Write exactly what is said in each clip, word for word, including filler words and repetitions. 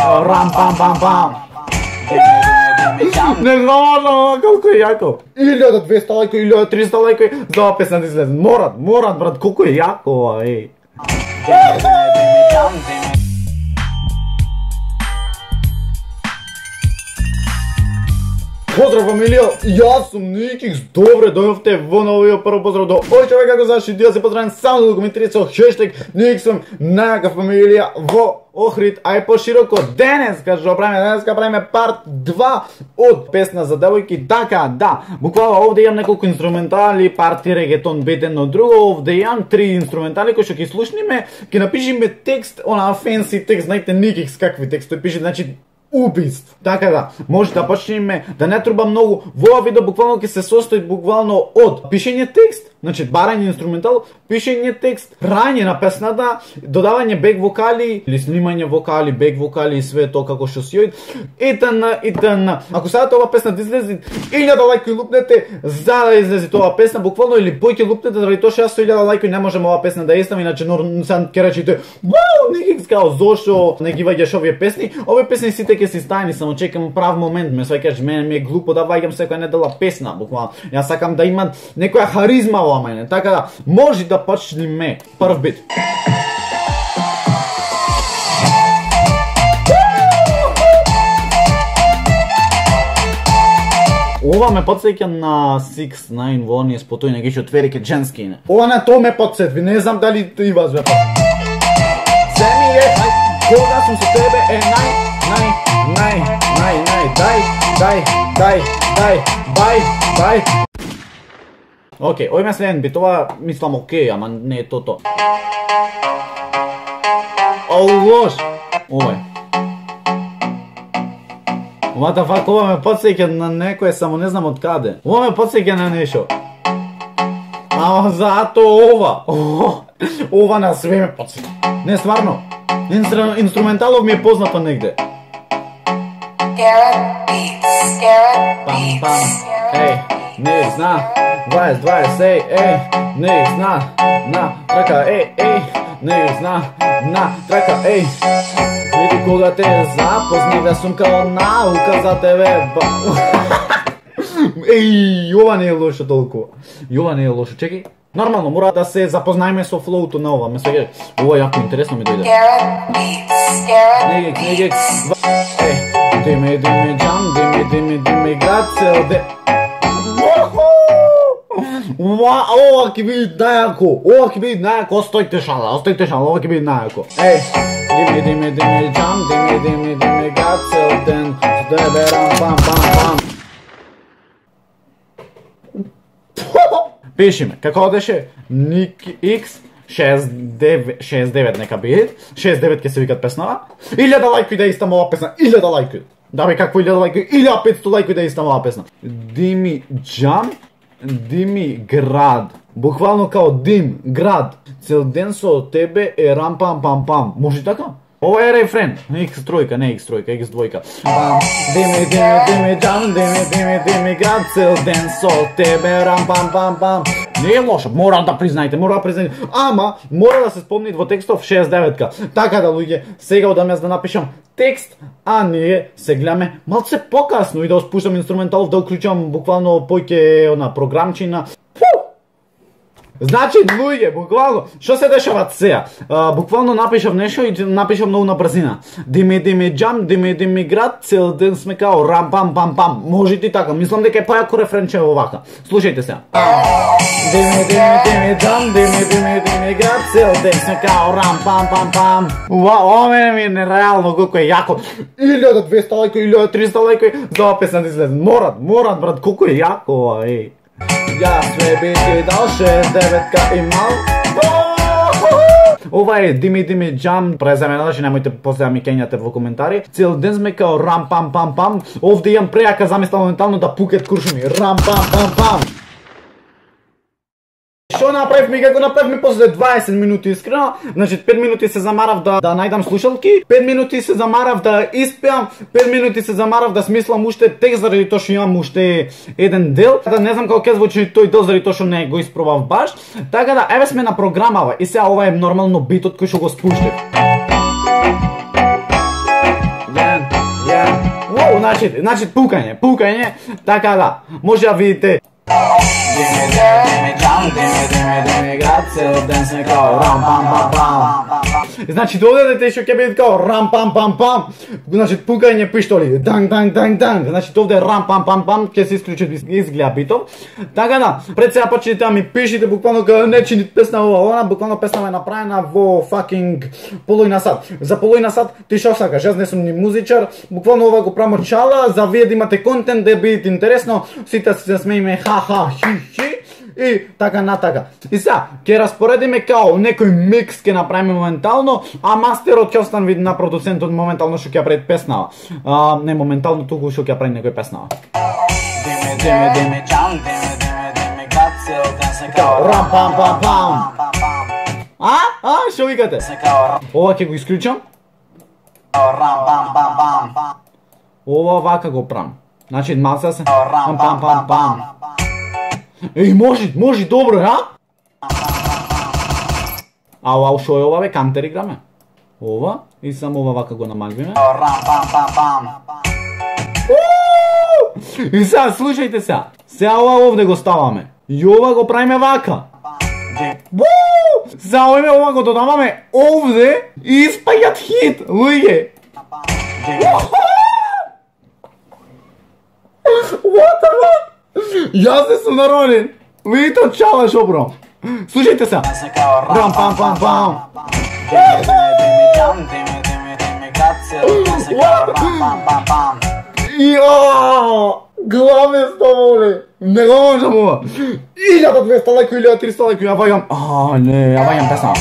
рам пам пам пам. Не знам колку е јако. илјада и двесте лајкови, илјада и триста лајкови за ова песна да излезе. Морат, морат брат, колку е јако ова, еј. Поздрав фамилија, јас сум Никикс, добре дојавте во новиот прво поздрав до овој човек како заши, да се поздравам само да коментирате со хештег Никикс сум најака фамилија во Охрид, ај пошироко. Денеска што правиме, денеска правиме парт два од песна за девојки, така да, буквално овде имам неколку инструментали, парти, регетон, бетен, но друго, овде имам три инструментали кои што ќе слушниме, ќе напишиме текст, она фенси текст, знаете Никикс какви текстови пише, значи убист. Така да, може да почнеме да не труба многу. Во ова видео буквално ќе се состои буквално од пишење текст, значи барање инструментал, пишење текст, прање на песната, додавање бек вокали или снимање вокали, бек вокали и све тоа како што си јоид. Итн, итн. Ако сакате ова песна да излезе, илјада лајкови лупнете за да излезе тоа песна, буквално или поќе лупнете заради тоа што јас со илјада лајкови не можам ова песна да ја ставам, иначе нормално ќе речете, вау, Никикс као зошто не ги ваѓаш овие песни. Овие песни сите ќе се стајани, само чекам прав момент, ме сваќаш, мене ми е глупо да ваѓам секоја недела песна, буквално. Јас сакам да имам некоја харизма во мене, така да може да почнеме прв бит. Ова ме подсеќа на шест девет во оние спотои на ги четверике женски. Ова на тоа ме подсетви, не знам дали и вас ве. Се ми е, кога сум со тебе е нај, нај, нај, нај, нај, дај, дај, дај, дај, бај, бај. Океј, ој ме следен бит, ова мислам окей, ама не е тото. О, лош! Овај. What the fuck, ова ме подсеќа на некој, само не знам од каде. Ова ме подсеќа на нешто. Ама зато ова. Ова на све ме подсеќа. Не, стварно. Инстру... Инструменталов ми е познато негде. Пам, пам. Ей, не зна. дваесет, дваесет, ей, ей. Не зна. На, трака, ей, ей. Не зна. На, трака, ей. Види кога те запознав, јас сум као наука за тебе. Еј, ова не е лошо толку. Ова не е лошо, чекај. Нормално, мора да се запознаеме со флоуто на ова. Ме свеќе, ова јако интересно ми дојде. Негек, негек. Еј, диме, диме, джам, диме, диме, диме, град, цел де. Ова ќе биде најако, ова ќе биде најако, остојте шала, остојте шала, ова ќе биде најако. Еј, диме, диме, диме, джам, диме, диме, диме, град, цел ден, со тебе рам, пам, пам, пам. Пишиме, како одеше? Никикс шест девет нека биде, шест девет ќе се викат песнава. илјада лајкови да истам ова песна, илјада лајкови. Да бе, какво илјада лајкови? илјада и петстотини лајкови да истам ова песна. Дими джам, дими град. Буквално као дим, град. Цел ден со тебе е рам пам пам пам. Може така? Ова е рефрен. Икс тројка, не Икс тројка, Икс двојка. Дими, дими, дими, джам, дими, дими, дими, град, цел ден со тебе, рам, пам, пам, пам. Не е лошо, мора да признајте, мора да признајте. Ама, мора да се спомни во текстов шест деветка. Така да, луѓе, сега одам јас да напишам текст, а ние се гледаме малце покасно и да спуштам инструменталов, да уклучам буквално поќе на програмчина. Значи, луѓе, буквално, што се дешава сега? Буквално напишав нешто и напишав многу на брзина. Диме, диме, джам, диме, диме, град, цел ден сме као рам, пам, пам, пам. Може и така, мислам дека е појако рефренче овака. Слушајте сега. Диме, диме, диме, джам, диме, диме, диме, град, цел ден сме као рам, пам, пам, пам. Уа, ова мене ми е нереално колку е јако. илјада и двесте лајкови, илјада и триста лајкови за ова песна да излезе. Морат, морат, брат, колку е јако ова, еј. Јас све би ти дал шест деветка и мал. Ова е Дими Дими Джам, презамената, че немојте после да ми кењате во коментари. Цел ден сме као рам пам пам пам. Овде имам прејака замисла моментално да пукет куршуми. Рам пам пам пам. Што направивме, како направивме после дваесет минути искрено, значи пет минути се замарав да, да најдам слушалки, пет минути се замарав да испеам, пет минути се замарав да смислам уште текст заради тоа што имам уште еден дел, да не знам како ќе звучи тој дел заради тоа што не го испробав баш, така да еве сме на програмава и сега ова е нормално битот кој што го спуштив. значи, значи пукање, пукање, така да, може да видите. Dimmi, dimmi, Gian, dimmi, dimmi, dimmi, grazie, dance kao ram pam pam pam. Значи додадете што ќе биде као рам пам пам пам. Значи пукање пиштоли, данг данг данг данг. Значи овде рам пам пам пам ќе се исклучи изгледа битов. Така да, пред сега почнете да ми пишите буквално као не чините песна ова, она буквално песна е направена во fucking половина сат. За половина сат ти што сакаш, јас не сум ни музичар, буквално ова го прамо чала за вие да имате контент да биде интересно, сите се смееме ха ха хи хи и така натака. И сега ќе распоредиме као некој микс ќе направиме моментално, а мастерот ќе остане вид на продуцентот моментално што ќе прави песнава. А, не моментално туку што ќе прави некој песнава. Диме диме диме Gian, диме диме диме grazie, dance као рам пам пам пам. А? А, што викате? Ова ќе го исклучам. Рам пам пам пам. Ова вака го прам. Значи малце се пам пам пам пам. Еј, може, може, добро, а? А ова шо е ова бе, кантер играме? Ова, и само ова вака го намалвиме. И сега, слушајте сега. Сега ова овде го ставаме. И ова го правиме вака. Сега овде ова го додаваме овде и испаѓат хит, луѓе. What the fuck? Јас не сум народен. Видите од чала шо бром. Слушајте се. Рам пам пам пам. Јо! Главе стоволе. Не го можам ова. илјада двеста лајко, илјада триста лајко, ја ваѓам. А, не, ја ваѓам песна.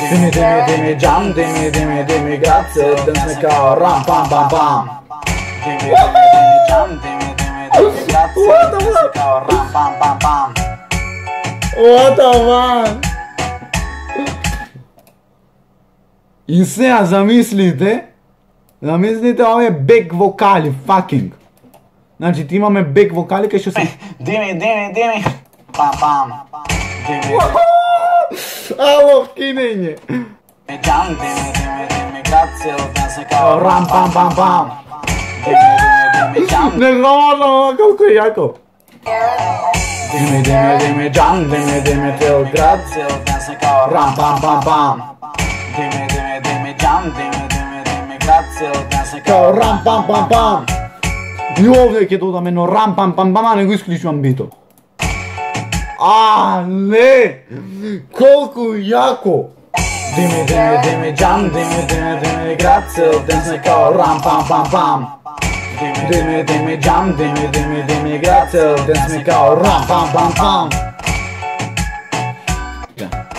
Дими, дими, дими, Gian, дими, дими, дими, grazie, dance kao ram pam pam pam. Dimi, dimi, dimi, Gian, dimi, What the fuck? What the fuck? И сега замислите, замислите овие бек вокали, fucking. Значи ти имаме бек вокали кај што се Дими, дими, дими. Пам пам. Дими. Ало, кинење. Gian, dimi, dimi, dimi, grazie, dance kao ram pam pam pam. Не знам ова колку е јако. Дими, дими, дими, Gian, дими, дими, тел grazie, dance kao ram pam pam pam. Дими, дими, дими, Gian, дими, дими, дими, grazie, dance kao ram pam pam pam. И овде ќе додаме едно рам пам пам пам, а не го исклучувам битот. А, не! Колку јако! Дими, дими, дими, Gian, дими, дими, дими, grazie, dance kao ram pam pam pam. Dimi, dimi, Gian, dimi, dimi, dimi, grazie, dance kao ram pam pam pam.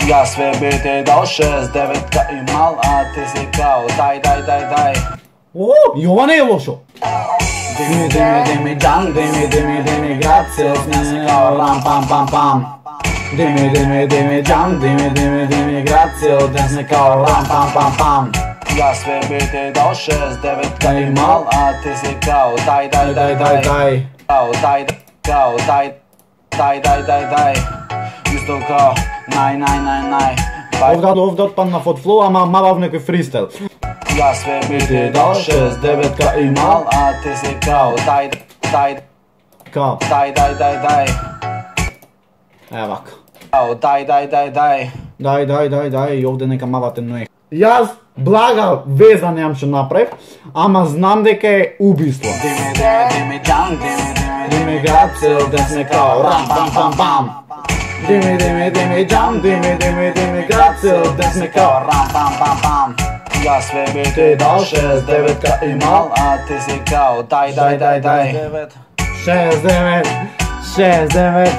Ja sve biti do šest devetka imal, a ti si kao daj, daj, daj, daj. O, i ova ne je lošo. Dimi, dimi, dimi, Gian, dimi, dimi, dimi, grazie, dance kao ram pam pam pam. Dimi, dimi, dimi, Gian, dimi, dimi, dimi, grazie, dance kao ram pam pam pam. Ja sve biti do šest devetka imal, a ti si kao daj, daj, daj, daj, daj. Kao daj, kao daj, daj, daj, daj, daj. Isto kao naj, naj, naj, naj. Овде, овде отпаднав од флоу, ама мавав некој фристайл. Ja sve biti do šest devetka imal, a ti si kao daj, daj, kao daj, daj, daj, daj. Ева вака. Kao daj, daj, daj, daj. Дај, дај, дај, дај, и овде нека мавате ној. Јас блага веза немам што направив, ама знам дека е убиство. Дими, дими, дими, Gian, дими, дими, дими, grazie, dance kao ram pam pam pam. Dimi, dimi, dimi, Gian, dimi, dimi, dimi, grazie, dance kao ram pam pam pam. Ja sve biti do šest devetka imal, a ti si kao daj, daj, daj, daj. šest devet, šest devet,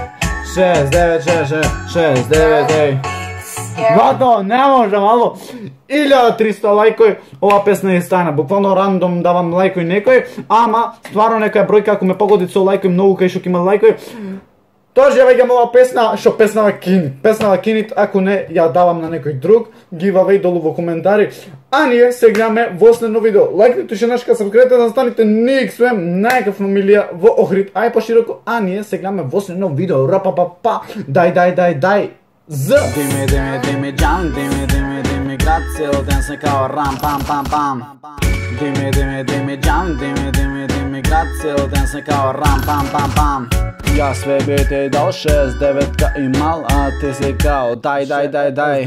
šest devet, šest devet, ej. Вато, не можам, ало, илјада триста лајкој, ова песна е стана, буквално рандом давам лајкој некој, ама, стварно некоја бројка, ако ме погоди со лајкој, многу кај шо ќе има лајкој, тоа ја веќам ова песна, шо песнава кинит, песнава кинит, ако не, ја давам на некој друг, giveaway долу во коментари, а ние се гледаме во следно видео, лајкнете шенашка, сабскрибете да станете Никсвем, најака фамилија во Охрид, ај пошироко, а ние се гледаме во следно видео, рапапапа, дај, дај, дај, дај. Z Dimi, dimi, dimi, Gian, dimi, dimi, dimi, grazie, dance kao ram pam pam pam. Dime, dime, dime, jam, dime, dime, dime, grazie, o dance kao ram, pam, pam, pam. Ja sve bi ti dao šest devet ka imal, a ti si kao daj, daj, daj, daj.